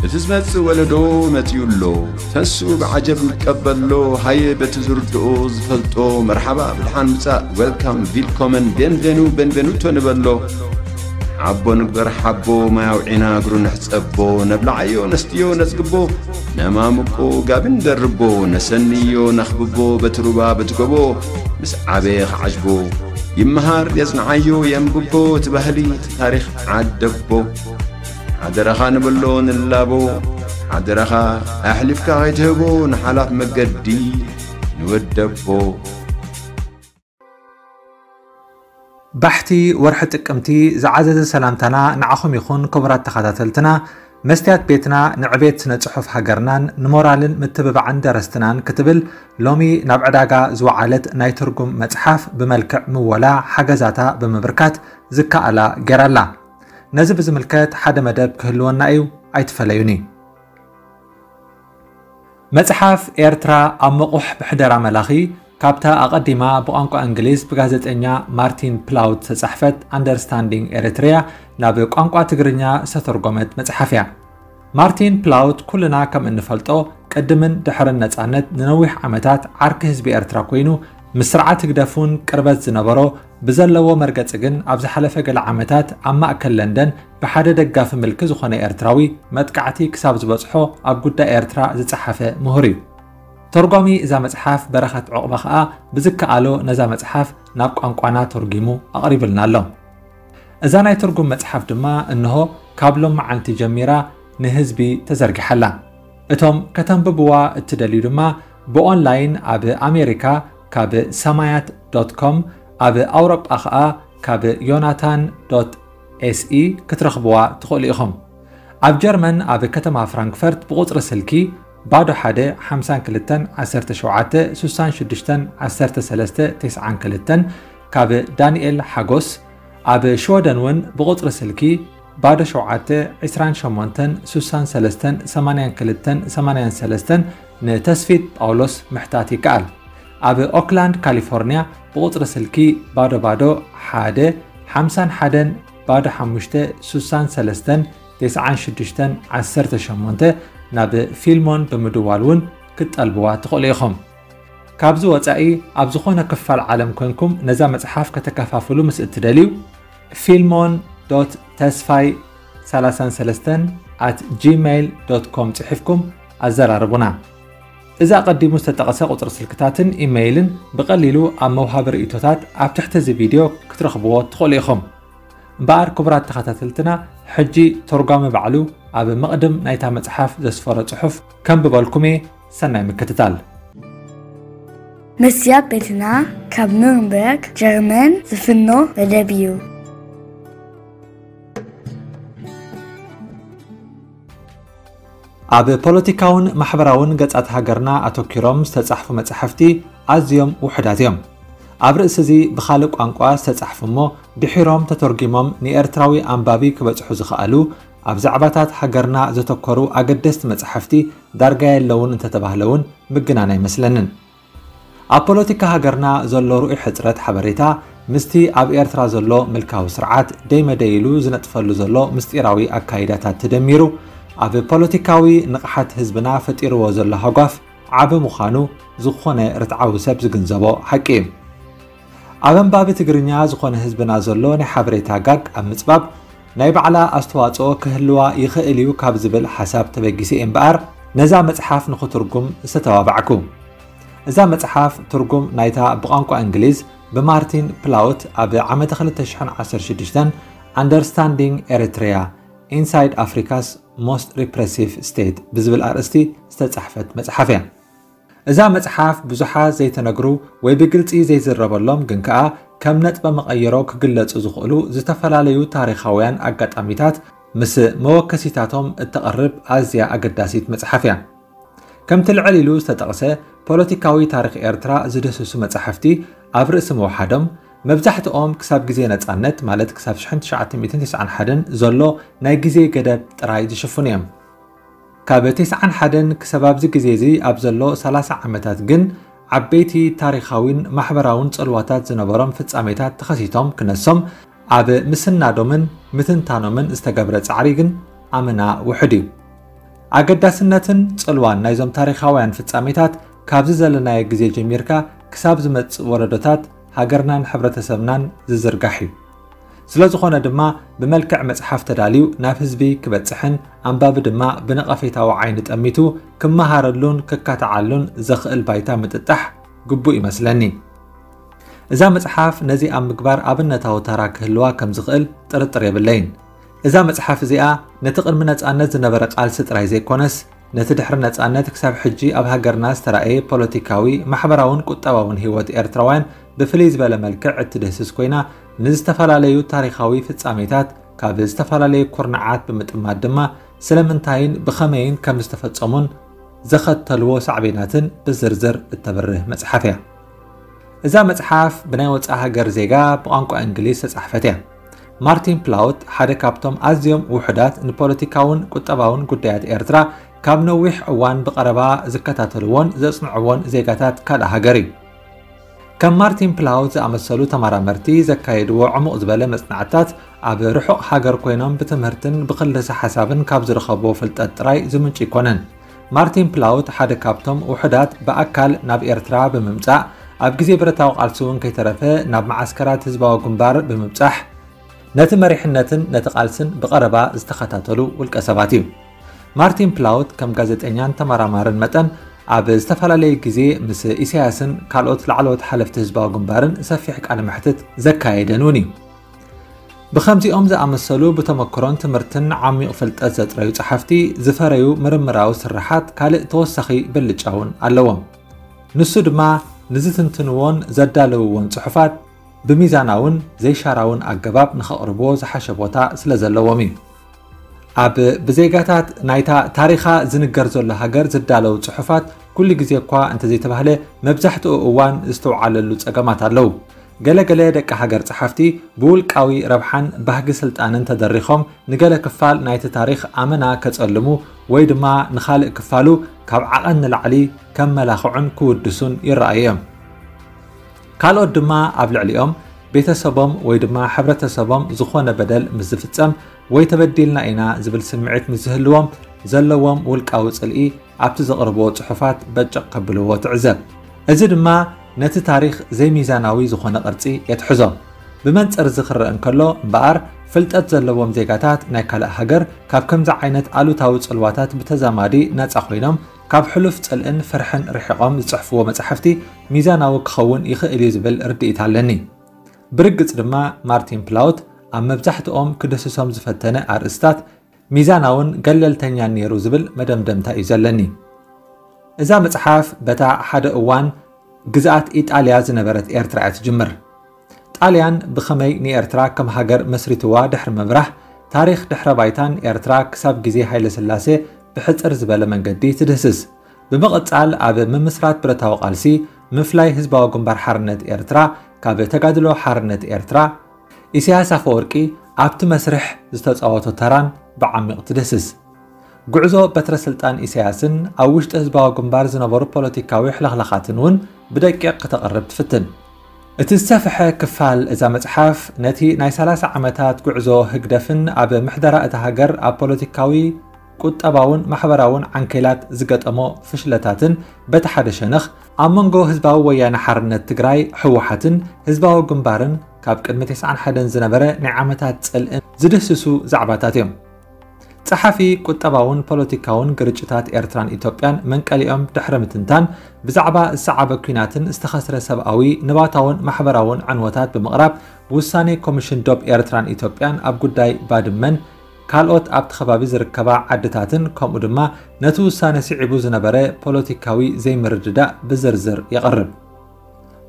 እቲ ዝመጽእ ወለዶ መጺኡ ኣሎ። ተንስኡ ብዓጀብ ንቀበሎ። ሃየ በቲ ዝርድኦ ዝፈልጦ መርሓባ ብድሓን ምጻእ፣ ዌልካም፣ ቪልኮመን፣ ቤንቬኑ፣ ቤንቬኑቶ ንበሎ። ሓቦ ንግበር ሓቦ፣ ማይ ኣውዒና እግሩ ንሕጸቦ። ነብልዓዮ ነስትዮ ነጽግቦ፣ ነማምቆ ጋቢ ንደርቦ። ነሰንዮ ነኽብቦ በቲ ሩባ በቲ ጎቦ። ምስ ዓበየ ክዓጅቦ ይመሃር የጽንዓዮ የንብቦ። እቲ ባህሊ እቲ ታሪኽ ዓደቦ። ሓደራኻ ንብሎ ንላቦ። ሓደራኻ ኣሕሊፍካ ከይትህቦ ንሓላፍ መገዲ ንወደቦ። ባሕቲ ወርሒ ጥቅምቲ ዝዓዘዘ ሰላምታና ንዓኹም ይኹን ክቡራት ተኸታተልትና። መስትያት ቤትና ንዕቤት ስነ ጽሑፍ ሃገርናን ንሞራልን ምትብባዕን ደረስትናን ክትብል ሎሚ ናብ ዕዳጋ ዝወዓለት ናይ ትርጉም መጽሓፍ ብመልክዕ ምወላ ሓገዛታ ብምብርካት ዝከኣላ ጌራላ። ነዚ ብዝምልከት ሓደ መደብ ክህልወና እዩ፣ ኣይትፈለዩኒ። መጽሓፍ ኤርትራ ኣብ መቑሕ ብሕደራ መላኺ ካብታ ኣቐዲማ ብቋንቋ እንግሊዝ ብጋዜጠኛ ማርቲን ፕላውት ዝተጻሕፈት ኣንደርስታንዲንግ ኤሪትሪያ ናብ ቋንቋ ትግርኛ ዝተተርጎመት መጽሓፍ እያ። ማርቲን ፕላውት ኩልና ከም እንፈልጦ ቅድምን ድሕርን ነጻነት ንነዊሕ ዓመታት ዓርኪ ህዝቢ ኤርትራ ኮይኑ ምስ ስርዓት ህግደፍ እውን ቅርበት ዝነበሮ ብዘለዎ መርገጺ ግን ኣብ ዝሓለፈ ገለ ዓመታት ኣብ ማእከል ለንደን ብሓደ ደጋፊ ምልኪ ዝኾነ ኤርትራዊ መጥቃዕቲ ክሳብ ዝበጽሖ ኣብ ጉዳይ ኤርትራ ዝጸሓፈ ምሁር እዩ። ተርጓሚ እዛ መጽሓፍ በረኸት ዑቕባ ከኣ ብዝከኣሎ ነዛ መጽሓፍ ናብ ቋንቋና ተርጒሙ ኣቕሪብልና ኣሎ። እዛ ናይ ትርጉም መጽሓፍ ድማ እንሆ ካብ ሎመዓንቲ ጀሚራ ንህዝቢ ተዘርጊሓ ኣላ። እቶም ከተንብብዋ እትደልዩ ድማ ብኦንላይን ኣብ ኣሜሪካ ካብ ሰማያት ዶት ኮም፣ ኣብ ኣውሮጳ ከኣ ካብ ዮናታን ዶት ኤስኢ ክትረኽብዋ ትኽእሉ ኢኹም። ኣብ ጀርመን ኣብ ከተማ ፍራንክፈርት ብቑጽሪ ስልኪ ባዶ ሓደ ሓምሳን ክልተን ዓሰርተ ሸውዓተ ስሳን ሽዱሽተን ዓሰርተ ሰለስተ ተስዓን ክልተን ካብ ዳንኤል ሓጎስ፣ ኣብ ሽወደን እውን ብቑጽሪ ስልኪ ባዶ ሸውዓተ ዕስራን ሸሞንተን ስሳን ሰለስተን ሰማንያን ክልተን ሰማንያን ሰለስተን ንተስፊት ጳውሎስ ምሕታት ይከኣል። ኣብ ኦክላንድ ካሊፎርኒያ ብቑጽሪ ስልኪ ባዶ ባዶ ሓደ ሓምሳን ሓደን ባዶ ሓሙሽተ ስሳን ሰለስተን ተስዓን ሽዱሽተን ዓሰርተ ሸሞንተ ናብ ፊልሞን ብምድዋል እውን ክትጠልብዋ ትኽእሉ ኢኹም። ካብዚ ወጻኢ ኣብ ዝኾነ ክፋል ዓለም ኮንኩም ነዛ መጽሓፍ ከተከፋፍሉ ምስ እትደልዩ ፊልሞን ዶት ተስፋይ ሰላሳን ሰለስተን ኣት ጂሜይል ዶት ኮም ጽሒፍኩም ኣዘራርቡና። እዚ ኣቐዲሙ ዝተጠቕሰ ቁጽሪ ስልክታትን ኢሜይልን ብቐሊሉ ኣብ መውሃቢ ርእይቶታት ኣብ ትሕቲ እዚ ቪድዮ ክትረኽብዎ ትኽእሉ ኢኹም። እምበኣር ክቡራት ተኸታተልትና፣ ሕጂ ተርጓሚ ባዕሉ ኣብ መቕድም ናይታ መጽሓፍ ዘስፈሮ ጽሑፍ ከንብበልኩም እየ። ሰናይ ምክትታል። መስትያት ቤትና ካብ ኑርንበርግ ጀርመን ዝፍኖ መደብ እዩ። ኣብ ፖለቲካውን ማሕበራውን ገጻት ሃገርና ኣተኪሮም ዝተጻሕፉ መጻሕፍቲ ኣዝዮም ውሑዳት እዮም። ኣብ ርእሲ እዚ ብኻልእ ቋንቋ ዝተጻሕፉ እሞ ድሒሮም ተተርጒሞም ንኤርትራዊ ኣንባቢ ክበጽሑ ዝኸኣሉ ኣብ ዛዕባታት ሃገርና ዘተኮሩ ኣገደስቲ መጻሕፍቲ ዳርጋ የለውን እንተተባህለ እውን ምግናን ኣይመስለንን። ኣብ ፖለቲካ ሃገርና ዘሎ ርኡይ ሕጽረት ሓበሬታ ምስቲ ኣብ ኤርትራ ዘሎ ምልካዊ ስርዓት ደይመደይ ኢሉ ዝነጥፈሉ ዘሎ ምስጢራዊ ኣካይዳታት ተደሚሩ ኣብ ፖለቲካዊ ንቕሓት ህዝብና ፈጢርዎ ዘሎ ሃጓፍ ዓቢ ምዃኑ ዝኾነ ርትዓዊ ሰብ ዝግንዘቦ ሓቂ እዩ። ኣብ ኣንባቢ ትግርኛ ዝኾነ ህዝብና ዘሎ ናይ ሓበሬታ ጋግ ኣብ ምጽባብ ናይ ባዕላ ኣስተዋጽኦ ክህልዋ ይኽእል እዩ ካብ ዝብል ሓሳብ ተበጊሰ እየ እምበኣር ነዛ መጽሓፍ ንኽትርጉም ዝተተባባዕኩ። እዛ መጽሓፍ ትርጉም ናይታ ብቋንቋ እንግሊዝ ብማርቲን ፕላውት ኣብ ዓመተ ክልተ ሽሕን ዓሰርተ ሽዱሽተን Understanding Eritrea Inside Africa's Most Repressive State ብዝብል ኣርእስቲ ዝተጻሕፈት መጽሓፍ እያ። እዛ መጽሓፍ ብዙሓት ዘይተነግሩ ወይ ብግልጺ ዘይዝረበሎም ግን ከኣ ከም ነጥበ መቐይሮ ክግለጹ ዝኽእሉ ዝተፈላለዩ ታሪኻውያን ኣጋጣሚታት ምስ መወከሲታቶም እተቕርብ ኣዝያ ኣገዳሲት መጽሓፍ እያ። ከምቲ ልዕል ኢሉ ዝተጠቕሰ ፖለቲካዊ ታሪኽ ኤርትራ ዝድህስሱ መጻሕፍቲ ኣብ ርእሲ ምውሓዶም መብዛሕትኦም ክሳብ ግዜ ነጻነት ማለት ክሳብ ሽሕን ትሽዓተ ሚእትን ተስዓን ሓደን ዘሎ ናይ ግዜ ገደብ ጥራይ ዝሽፍኑ እዮም። ካብ ተስዓን ሓደን ክሳብ ኣብዚ ግዜ እዚ ኣብ ዘሎ ሰላሳ ዓመታት ግን ዓበይቲ ታሪኻዊን ማሕበራውን ጽልዋታት ዝነበሮም ፍጻሜታት ተኸሲቶም ክነሶም ኣብ ምስናዶምን ምትንታኖምን ዝተገብረ ጻዕሪ ግን ኣመና ውሑድ እዩ። ኣገዳስነትን ጽልዋን ናይዞም ታሪኻውያን ፍጻሜታት ካብዚ ዘለናዮ ግዜ ጀሚርካ ክሳብ ዝመጽእ ወለዶታት ሃገርናን ሕብረተሰብናን ዝዝርጋሕ እዩ። ስለ ዝኾነ ድማ ብመልክዕ መጽሓፍ ተዳልዩ ናብ ህዝቢ ክበጽሕን ኣንባቢ ድማ ብነቐፌታዊ ዓይኒ ጠሚቱ ክመሃረሉን ክካትዓሉን ዘኽእል ባይታ ምጥጣሕ ግቡእ ይመስለኒ። እዛ መጽሓፍ ነዚ ኣብ ምግባር ኣብነታዊ ተራ ክህልዋ ከም ዝኽእል ጥርጥር የብለይን። እዛ መጽሓፍ እዚኣ ነቲ ቅድሚ ነጻነት ዝነበረ ቃልሲ ጥራይ ዘይኮነስ፣ ነቲ ድሕሪ ነጻነት ክሳብ ሕጂ ኣብ ሃገርና ዝተራእየ ፖለቲካዊ፣ ማሕበራውን ቁጠባውን ህይወት ኤርትራውያን ብፍልይ ዝበለ መልክዕ እትድህስስ ኮይና፣ ንዝተፈላለዩ ታሪኻዊ ፍጻሜታት ካብ ዝተፈላለዩ ኩርናዓት ብምጥማት ድማ ስለምንታይን ብኸመይን ከም ዝተፈጸሙን ዘኸተልዎ ሳዕቤናትን ብዝርዝር እተብርህ መጽሓፍ እያ። እዛ መጽሓፍ ብናይ ወጻኢ ሃገር ዜጋ ብቋንቋ እንግሊዝ ዝተጻሕፈት እያ። ማርቲን ፕላውት ሓደ ካብቶም ኣዝዮም ውሑዳት ንፖለቲካውን ቁጠባውን ጉዳያት ኤርትራ ካብ ነዊሕ እዋን ብቐረባ ዝከታተልዎን ዘጽንዕዎን ዜጋታት ካልእ ሃገር እዩ። ከም ማርቲን ፕላውት ዝኣመሰሉ ተመራመርቲ ዘካየድዎ ዕሙቕ ዝበለ መጽናዕትታት ኣብ ርሑቕ ሃገር ኮይኖም ብትምህርትን ብክልሰ ሓሳብን ካብ ዝረኸብዎ ፍልጠት ጥራይ ዝምንጩ ኣይኮነን። ማርቲን ፕላውት ሓደ ካብቶም ውሑዳት ብኣካል ናብ ኤርትራ ብምምጻእ፣ ኣብ ግዜ ብረታዊ ቃልሲ እውን ከይተረፈ ናብ መዓስከራት ህዝባዊ ግንባር ብምብጻሕ፣ ነቲ መሪሕነትን ነቲ ቃልስን ብቐረባ ዝተኸታተሉ ውልቀ ሰባት እዩ። ማርቲን ፕላውት ከም ጋዜጠኛን ተመራማርን መጠን ኣብ ዝተፈላለየ ግዜ ምስ ኢሳያስን ካልኦት ላዕለዎት ሓለፍቲ ህዝባዊ ግንባርን ሰፊሕ ቃለ መሕትት ዘካየደን እውን እዩ። ብኸምዚኦም ዝኣመሰሉ ብተመክሮን ትምህርትን ዓሚቕ ፍልጠት ዘጥረዩ ጸሓፍቲ ዝፈረዩ ምርምራዊ ስርሓት ካልእ ተወሳኺ ብልጫ እውን ኣለዎም። ንሱ ድማ ንዝትንትንዎን ዘዳለውዎን ጽሑፋት ብሚዛናውን ዘይሻራውን ኣገባብ ንኸቕርብዎ ዝሓሸ ቦታ ስለ ዘለዎም እዩ። ኣብ ብዜጋታት ናይታ ታሪኻ ዝንገር ዘሎ ሃገር ዝዳለዉ ጽሑፋት ኩሉ ግዜ እኳ እንተዘይተባህለ መብዛሕትኡ እዋን ዝተውዓለሉ ጸገማት ኣለዉ። ገለ ገለ ደቂ ሃገር ጸሓፍቲ ብውልቃዊ ረብሓን ባህጊ ስልጣንን ተደሪኾም ንገለ ክፋል ናይቲ ታሪኽ ኣመና ከጸልሙ ወይ ድማ ንኻልእ ክፋሉ ካብ ዓቐን ንላዕሊ ከመላኽዑን ክውድሱን ይረኣዩ እዮም። ካልኦት ድማ ኣብ ልዕሊኦም ቤተሰቦም ወይ ድማ ሕብረተሰቦም ዝኾነ በደል ምስ ዝፍጸም ወይ ተበዲልና ኢና ዝብል ስምዒት ምስ ዝህልዎም ዘለዎም ውልቃዊ ጽልኢ ኣብቲ ዘቕርብዎ ጽሑፋት በጨቕ ከብልዎ ትዕዘብ። እዚ ድማ ነቲ ታሪኽ ዘይሚዛናዊ ዝኾነ ቅርጺ የትሕዞ። ብመንጽር እዚ ክረአ እንከሎ እምበኣር፣ ፍልጠት ዘለዎም ዜጋታት ናይ ካልእ ሃገር ካብ ከምዚ ዓይነት ኣሉታዊ ጽልዋታት ብተዛማዲ ነጻ ኮይኖም፣ ካብ ሕሉፍ ጽልእን ፍርሕን ርሒቖም ዝጽሕፍዎ መጻሕፍቲ ሚዛናዊ ክኸውን ይኽእል እዩ ዝብል ርድኢት ኣለኒ። ብርግጽ ድማ ማርቲን ፕላውት ኣብ መብዛሕትኦም ክድህስሶም ዝፈተነ ኣርእስታት ሚዛናውን ገለልተኛን ነይሩ ዝብል መደምደምታ እዩ ዘለኒ። እዛ መጽሓፍ በታ ሓደ እዋን ግዝኣት ኢጣልያ ዝነበረት ኤርትራ እያ ትጅምር። ጣልያን ብኸመይ ንኤርትራ ከም ሃገር መስሪትዋ ድሕሪ ምብራህ፣ ታሪኽ ድሕረ ባይታን ኤርትራ ክሳብ ግዜ ሃይለ ስላሴ ብሕጽር ዝበለ መንገዲ ትድህስስ። ብምቕጻል ኣብ ምምስራት ብረታዊ ቃልሲ፣ ምፍላይ ህዝባዊ ግንባር ሓርነት ኤርትራ ካብ ተጋድሎ ሓርነት ኤርትራ፣ ኢሳያስ ኣፈወርቂ ኣብቲ መስርሕ ዝተጻወቶ ተራን ብዓሚቕ ትድህስስ። ጉዕዞ በትረ ስልጣን ኢሳያስን ኣብ ውሽጢ ህዝባዊ ግንባር ዝነበሩ ፖለቲካዊ ሕልኽላኻትን እውን ብደቂቕ ክተቕርብ ትፍትን። እቲ ዝሰፍሐ ክፋል እዛ መጽሓፍ ነቲ ናይ ሰላሳ ዓመታት ጉዕዞ ህግደፍን ኣብ ምሕደራ እታ ሃገር ኣብ ፖለቲካዊ፣ ቁጠባውን ማሕበራውን ዓንኬላት ዝገጠሞ ፍሽለታትን በቲ ሓደ ሸነኽ ኣብ መንጎ ህዝባዊ ወያነ ሓርነት ትግራይ ህወሓትን ህዝባዊ ግንባርን ካብ ቅድሚ ተስዓን ሓደን ዝነበረ ናይ ዓመታት ጽልእን ዝድህስሱ ዛዕባታት እዮም። ጸሓፊ ቁጠባውን ፖለቲካውን ግርጭታት ኤርትራን ኢትዮጵያን መንቀሊኦም ድሕሪ ምትንታን፣ ብዛዕባ ዝሰዓበ ኲናትን ዝተኸስረ ሰብኣዊ፣ ንባታውን ማሕበራውን ዕንወታት ብምቕራብ፣ ውሳኔ ኮሚሽን ዶብ ኤርትራን ኢትዮጵያን ኣብ ጉዳይ ባድመን ካልኦት ኣብቲ ከባቢ ዝርከባ ዓድታትን ከምኡ ድማ ነቲ ውሳነ ስዒቡ ዝነበረ ፖለቲካዊ ዘይምርድዳእ ብዝርዝር የቕርብ።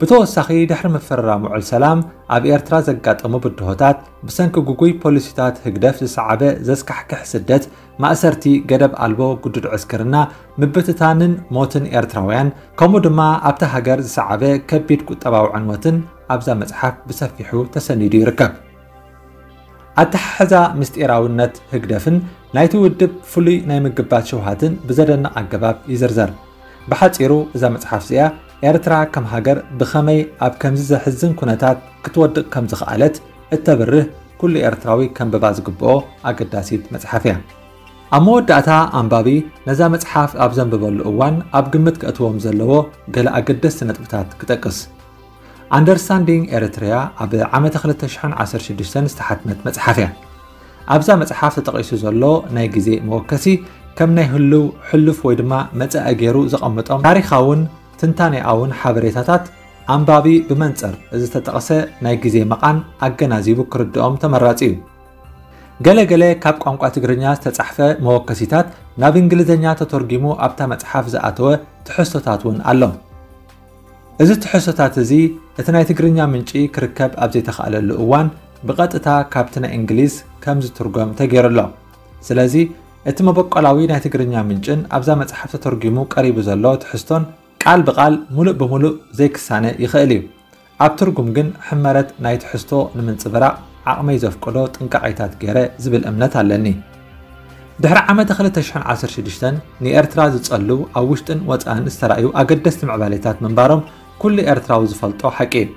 ብተወሳኺ ድሕሪ ምፍርራም ውዕል ሰላም ኣብ ኤርትራ ዘጋጠሙ ብድሆታት፣ ብሰንኪ ግጉይ ፖሊሲታት ህግደፍ ዝሰዓበ ዘስካሕክሕ ስደት፣ ማእሰርቲ፣ ገደብ ኣልቦ ግዱድ ዕስክርና፣ ምብትታንን ሞትን ኤርትራውያን፣ ከምኡ ድማ ኣብታ ሃገር ዝሰዓበ ከቢድ ቁጠባዊ ዕንወትን ኣብዛ መጽሓፍ ብሰፊሑ ተሰኒዱ ይርከብ። ኣተሓሕዛ ምስጢራውነት ህግደፍን ናይቲ ውድብ ፍሉይ ናይ ምግባት ሽውሃትን ብዘደንቕ ኣገባብ ይዝርዘር። ብሓጺሩ እዛ መጽሓፍ እዚኣ ኤርትራ ከም ሃገር ብኸመይ ኣብ ከምዚ ዘሕዝን ኩነታት ክትወድቕ ከም ዝኸኣለት እተብርህ ኩሉ ኤርትራዊ ከንብባ ዝግብኦ ኣገዳሲት መጽሓፍ እያ። ኣብ መወዳእታ፣ ኣንባቢ ነዛ መጽሓፍ ኣብ ዘንብበሉ እዋን ኣብ ግምት ከእትዎም ዘለዎ ገለ ኣገደስቲ ነጥብታት ክጠቅስ። Understanding Eritrea ኣብ ዓመተ ክልተ ሽሕን ዓሰርተ ሽዱሽተን ዝተሓትመት መጽሓፍ እያ። ኣብዛ መጽሓፍ ተጠቒሱ ዘሎ ናይ ግዜ መወከሲ ከም ናይ ህልው፣ ሕሉፍ ወይ ድማ መጻኢ ገይሩ ዘቐምጦም ታሪኻውን ትንታኔኣውን ሓበሬታታት፣ ኣንባቢ ብመንጽር ዝተጠቕሰ ናይ ግዜ መቓን ኣገናዚቡ ክርድኦም ተመራጺ እዩ። ገለ ገለ ካብ ቋንቋ ትግርኛ ዝተጻሕፈ መወከሲታት ናብ እንግሊዝኛ ተተርጒሙ ኣብታ መጽሓፍ ዝኣተወ ትሕዝቶታት እውን ኣሎ። እዚ ትሕዝቶታት እዚ፣ እቲ ናይ ትግርኛ ምንጪ ክርከብ ኣብ ዘይተኻእለሉ እዋን፣ ብቐጥታ ካብቲ ናይ እንግሊዝ ከም ዝትርጎም ተገይሩ ኣሎ። ስለዚ፣ እቲ መበቆላዊ ናይ ትግርኛ ምንጭን ኣብዛ መጽሓፍ ተተርጒሙ ቀሪቡ ዘሎ ትሕዝቶን ቃል ብቓል፣ ሙሉእ ብሙሉእ ዘይክሳነ ይኽእል እዩ። ኣብ ትርጉም ግን ሕመረት ናይ ትሕዝቶ ንምንጽብራቕ ዓቕመይ ዘፍቅዶ ጥንቃቄታት ገይረ ዝብል እምነት ኣለኒ። ድሕሪ ዓመተ ክልተ ሽሕን ዓሰርተ ሽዱሽተን ንኤርትራ ዝጸልው ኣብ ውሽጥን ወጻእን ዝተራእዩ ኣገደስቲ ምዕባሌታት ምንባሮም ኩሉ ኤርትራዊ ዝፈልጦ ሓቂ እዩ።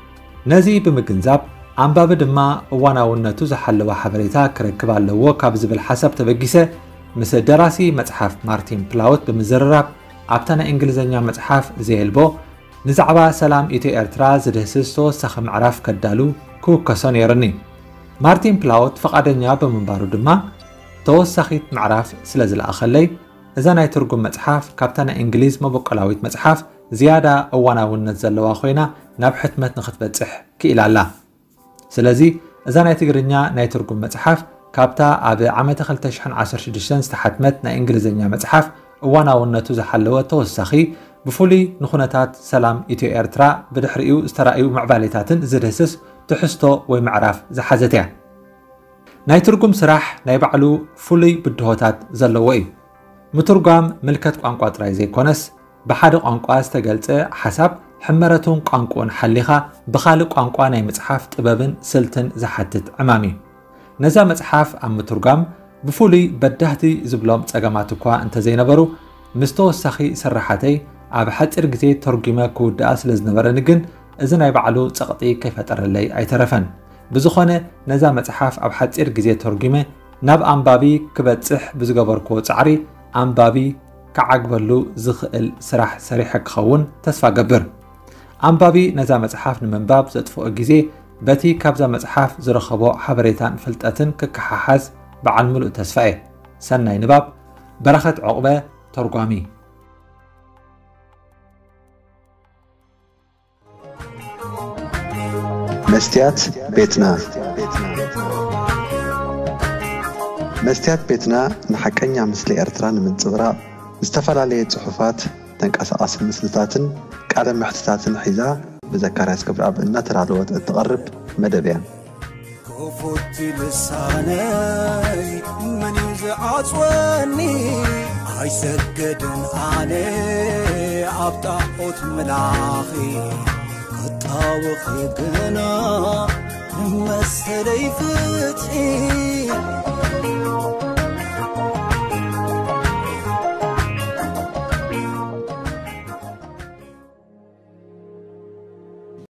ነዚ ብምግንዛብ፣ ኣንባቢ ድማ እዋናውነቱ ዝሓለወ ሓበሬታ ክረክብ ኣለዎ ካብ ዝብል ሓሳብ ተበጊሰ፣ ምስ ደራሲ መጽሓፍ ማርቲን ፕላውት ብምዝርራብ፣ ኣብታ ናይ እንግሊዝኛ መጽሓፍ ዘየልቦ ንዛዕባ ሰላም ኢትዮ ኤርትራ ዝድህስስ ተወሳኺ ምዕራፍ ከዳሉ ክውከሶ ነይሩኒ። ማርቲን ፕላውት ፈቓደኛ ብምንባሩ ድማ፣ ተወሳኺት ምዕራፍ ስለ ዝለኣኸለይ፣ እዛ ናይ ትርጉም መጽሓፍ ካብታ ናይ እንግሊዝ መበቆላዊት መጽሓፍ ዝያዳ እዋናውነት ዘለዋ ኮይና ናብ ሕትመት ንኽትበጽሕ ክኢላ ኣላ። ስለዚ፣ እዛ ናይ ትግርኛ ናይ ትርጉም መጽሓፍ ካብታ ኣብ ዓመተ ክልተ ሽሕን ዓሰርተ ሽዱሽተን ዝተሓትመት ናይ እንግሊዝኛ መጽሓፍ እዋናውነቱ ዝሓለወ ተወሳኺ፣ ብፍሉይ ንኹነታት ሰላም ኢትዮ ኤርትራ ብድሕሪኡ ዝተራእዩ ምዕባሌታትን ዝድህስስ ትሕዝቶ ወይ ምዕራፍ ዝሓዘት እያ። ናይ ትርጉም ስራሕ ናይ ባዕሉ ፍሉይ ብድሆታት ዘለዎ እዩ። ምትርጓም ምልከት ቋንቋ ጥራይ ዘይኮነስ፣ ብሓደ ቋንቋ ዝተገልጸ ሓሳብ ሕመረቱን ቋንቋኡን ሓሊኻ ብኻልእ ቋንቋ ናይ ምጽሓፍ ጥበብን ስልትን ዝሓትት ዕማም እዩ። ነዛ መጽሓፍ ኣብ ምትርጓም ብፍሉይ በዳህቲ ዝብሎም ጸገማት እኳ እንተዘይነበሩ፣ ምስ ተወሳኺ ስርሓተይ ኣብ ሓጺር ግዜ ተርጒመ ክውድኣ ስለ ዝነበረኒ ግን፣ እዚ ናይ ባዕሉ ጸቕጢ ከይፈጠረለይ ኣይተረፈን። ብዝኾነ፣ ነዛ መጽሓፍ ኣብ ሓጺር ግዜ ተርጒመ ናብ ኣንባቢ ክበጽሕ ብዝገበርክዎ ጻዕሪ፣ ኣንባቢ ክዓግበሉ ዝኽእል ስራሕ ሰሪሐ ክኸውን ተስፋ ገብር። ኣንባቢ ነዛ መጽሓፍ ንምንባብ ዘጥፍኦ ግዜ፣ በቲ ካብዛ መጽሓፍ ዝረኸቦ ሓበሬታን ፍልጠትን ክከሓሓዝ በዓል ምሉእ ተስፋ እየ። ሰናይ ንባብ። በረኸት ዑቕበ፣ ተርጓሚ። መስትያት ቤትና። መስትያት ቤትና ንሓቀኛ ምስሊ ኤርትራ ንምንጽብራቕ፣ ዝተፈላለየ ጽሑፋት፣ ተንቀሳቓሲ ምስልታትን ቃለ መሕትታትን ሒዛ ብዘካርያስ ክብረኣብ እናተዳለወት እትቐርብ መደብ እያ። ክፉት ልሳነይ መን እዩ ዝዓጽወኒ? ኣይሰግድን ኣነ ኣብ ጣዖት ምላኺ፣ ክጣወኺ ግና ንመሰለይ ፍትሒ።